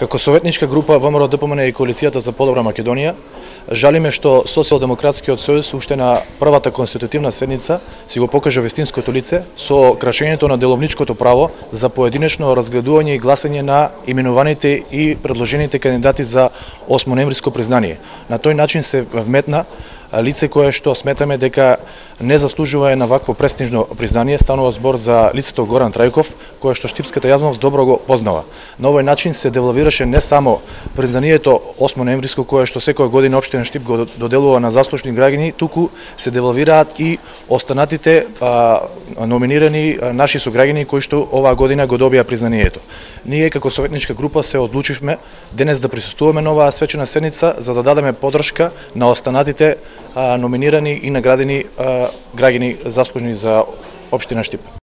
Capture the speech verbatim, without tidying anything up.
Како советничка група ВМРО ДПМН и Коалицијата за подобра Македонија, жалиме што Социјалдемократскиот сојуз уште на првата конститутивна седница си го покажа вистинското лице со крашењето на деловничкото право за поединечно разгледување и гласање на именуваните и предложените кандидати за осмоноемвриско признание. На тој начин се вметна лице кое што сметаме дека не заслужува на вакво престижно признание. Станува збор за лицето Горан Трајков, кое што штипската јавност добро го познава. На овој начин се девалвираше не само признанието осмоноемвриско кое што секоја година општина Штип го доделува на заслужени граѓани, туку се девалвираат и останатите а, номинирани а, наши сограѓани кои што оваа година го добија признанието. Ние како советничка група се одлучивме денес да присуствуваме на оваа свечена седница за да дадеме поддршка на останатите а, номинирани и наградени а, граѓани заслужени за општина Штип.